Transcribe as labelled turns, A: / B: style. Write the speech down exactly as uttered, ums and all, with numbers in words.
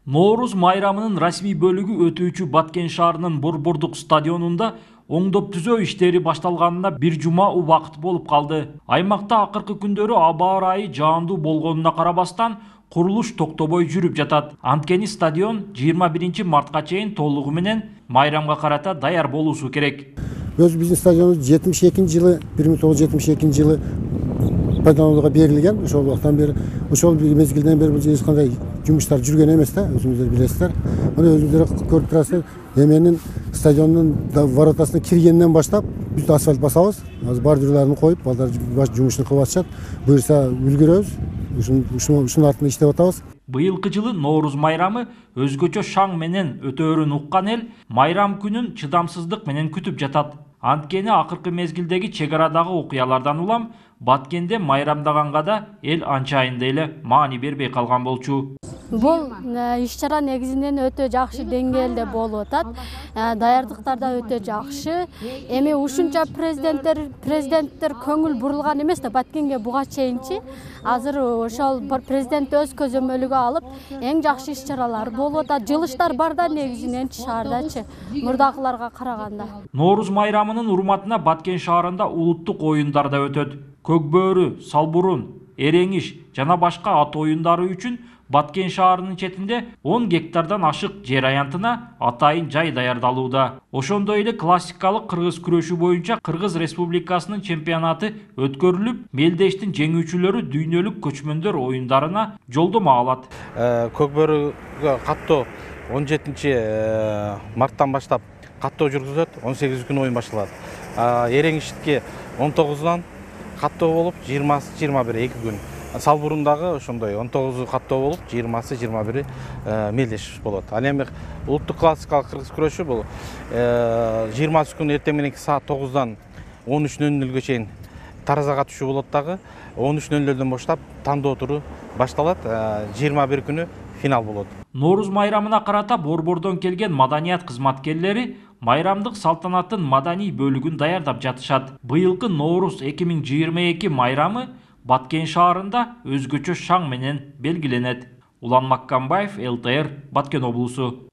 A: Ноорус майрамынын расмий бөлүгү өтүүчү Баткен шаарынын Борбордук стадионунда оңдоп түзөө иштери башталганына бир жума убакыт болуп калды. Аймакта акыркы күндөрү аба ырайы жаандуу болгонуна карабастан курулуш токтобой жүрүп жатат. Анткени стадион жыйырма биринчи мартка чейин толугу менен майрамга карата даяр болуусу керек.
B: Өз биздин стадионубуз жетимиш экинчи жылы бир миң тогуз жүз жетимиш экинчи жылы пайдаланууга берилген. Ошол убактан бери, ошол мезгилден бери бул эч кандай жумуштар жүргөн эмес да, өзүңүздөр билесиздер. Мына өзүңүздөр көрүп турасыздар, эменин стадиондун воротасына киргенден баштап биз асфальт басабыз. Азыр бар жерлерин коюп, балдар жумушун кылып атышат. Буюрса үлгүрөбүз. Ушунун ушунун артында иштеп атабыз.
A: Быйылкы жылы Ноорус майрамы өзгөчө шаң менен өтөөрүн уккан эл майрам күнүн чыдамсыздык менен күтүп жатат. Анткени акыркы мезгилдеги чек арадагы окуялардан улам Баткенде майрамдаганга да эл анчайын эле маани бербей калган болчу.
C: Бул иш-чара негизинен өтө жакшы деңгээлде болуп атат. Даярдыктар да өтө жакшы. Эми ушунча президенттер президенттер көңүл бурулган эмес да Баткенге буга чейинчи. Азыр ошол президент өз көзөмөлүгө алып, эң жакшы иш-чаралар болуп атат. Жылыштар бар да негизинен шаардачы, мурдакыларга караганда.
A: Ноорус майрамынын урматына Баткен шаарында улуттук оюндар да өтөт. Көк бөөрү, салбурун, эреңиш жана башка ат оюндары үчүн Баткен шаарынын четинде он гектардан ашык жер аянтына атайын жай даярдалууда. Ошондой эле классикалык кыргыз күрөшү боюнча Кыргыз Республикасынын чемпионаты өткөрүлүп, мелдештин жеңүүчүлөрү дүйнөлүк көчмөндөр оюндарына жолдомо алат.
D: Көк бөөрүгө каттоо он жетинчи марттан баштап каттоо жүргүзүлөт, он сегизинчи күнү оюн башталат. Эреңиштикке он тогузунан каттоо болуп, жыйырмасы жыйырма бир эки күн. Салбурундагы ошондой он тогузу каттоо болуп, жыйырмасы жыйырма бири мелдеш болот. Ал эми улуттук классикалык кыргыз күрөшү бул жыйырмасы күнү эртең мененки саат тогуздан он үч нөл нөлгө чейин таразага түшүү болот дагы. он үч нөл нөлдөн баштап тандоо туру башталат. жыйырма бир күнү финал болот.
A: Ноорус майрамына карата борбордон келген маданият кызматкерлери майрамдык салтанаттын маданий бөлүгүн даярдап жатышат. Быйылкы Ноорус эки миң жыйырма эки майрамы Баткен шаарында өзгөчө шаң менен белгиленет. Улан Маккамбаев, эл тэ эр, Баткен облусу.